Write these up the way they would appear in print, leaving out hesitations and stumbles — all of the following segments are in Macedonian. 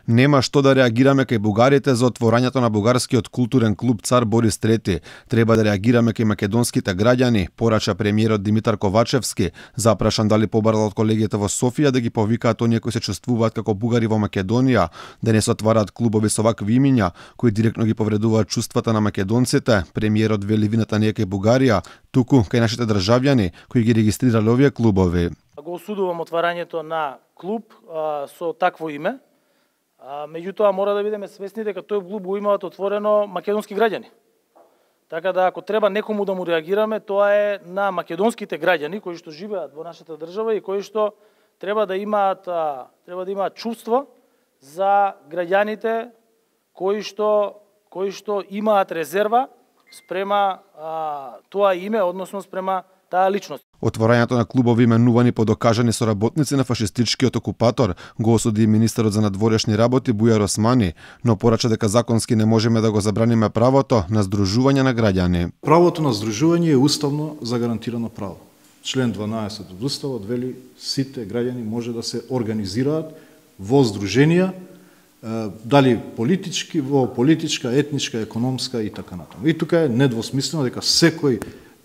Нема што да реагираме кај бугарите за отворањето на бугарскиот културен клуб Цар Борис III. Треба да реагираме кај македонските граѓани, порача премиерот Димитар Ковачевски, запрашан дали побарал од колегите во Софија да ги повикаат оние кои се чувствуваат како бугари во Македонија, да не се отвараат клубови со вакви имиња, кои директно ги повредуваат чувствата на македонците. Премиерот вели вината не е кај Бугарија, туку кај нашите државјани кои ги регистрирале овие клубови. Го осудувам отварањето на клуб со такво име. Меѓутоа мора да бидеме свесни дека тој клуб го имаат отворено македонски граѓани. Така да ако треба некому да му реагираме, тоа е на македонските граѓани кои што живеат во нашата држава и кои што треба да имаат чувство за граѓаните кои што имаат резерва спрема тоа име, односно спрема таа личност. Отворањето на клубови именувани по докажани соработници на фашистичкиот окупатор го осуди и министерот за надворешни работи Бујар Османи, но порача дека законски не можеме да го забраниме правото на здружување на граѓани. Правото на здружување е уставно загарантирано право. Член 12 од Уставот вели сите граѓани може да се организираат во здруженија, дали политички, во политичка, етничка, економска и така натаму. И тука е недвосмислено дека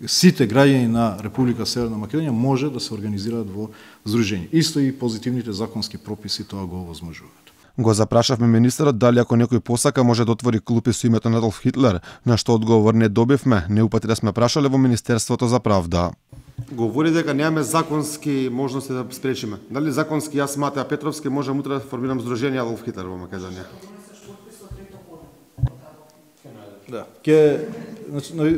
сите граѓани на Република Северна Македонија може да се организираат во здружение. Исто и позитивните законски прописи тоа го овозможуваат. Го запрашавме министерот дали ако некој посака може да отвори клуб со името на Адолф Хитлер, на што одговор не добивме, неупатри сме прашале во Министерството за правда. Говори дека немаме законски можности да спречиме. Дали законски јас Матеа Петровски можам утре да формирам здружение Адолф Хитлер во Македонија? Да.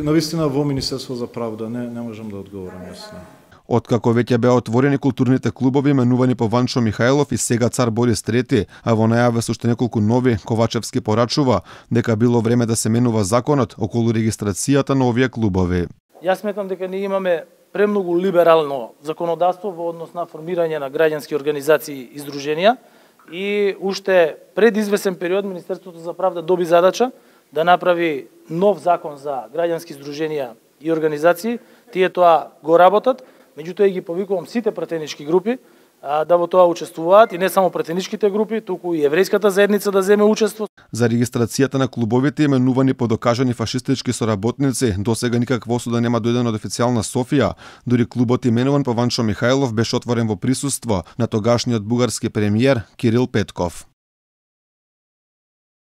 Навистина во Министерство за правда не можам да одговорам јас. Откако веќе беа отворени културните клубови именувани по Ванчо Михајлов и сега Цар Борис III, а во најава со уште неколку нови, Ковачевски порачува дека било време да се менува законот околу регистрацијата на овие клубови. Јас сметам дека ние имаме премногу либерално законодавство во однос на формирање на граѓански организации и здруженија и уште пред извесен период Министерството за правда доби задача да направи нов закон за граѓански здруженија и организации. Тие тоа го работат, меѓутоа ги повикувам сите пратенички групи да во тоа учествуваат и не само пратеничките групи, туку и еврејската заедница да земе учество. За регистрацијата на клубовите именувани по докажани фашистички соработници, досега никаква осуда нема дојдена од официјална Софија, дури клубот именуван по Ванчо Михајлов беше отворен во присуство на тогашниот бугарски премиер Кирил Петков.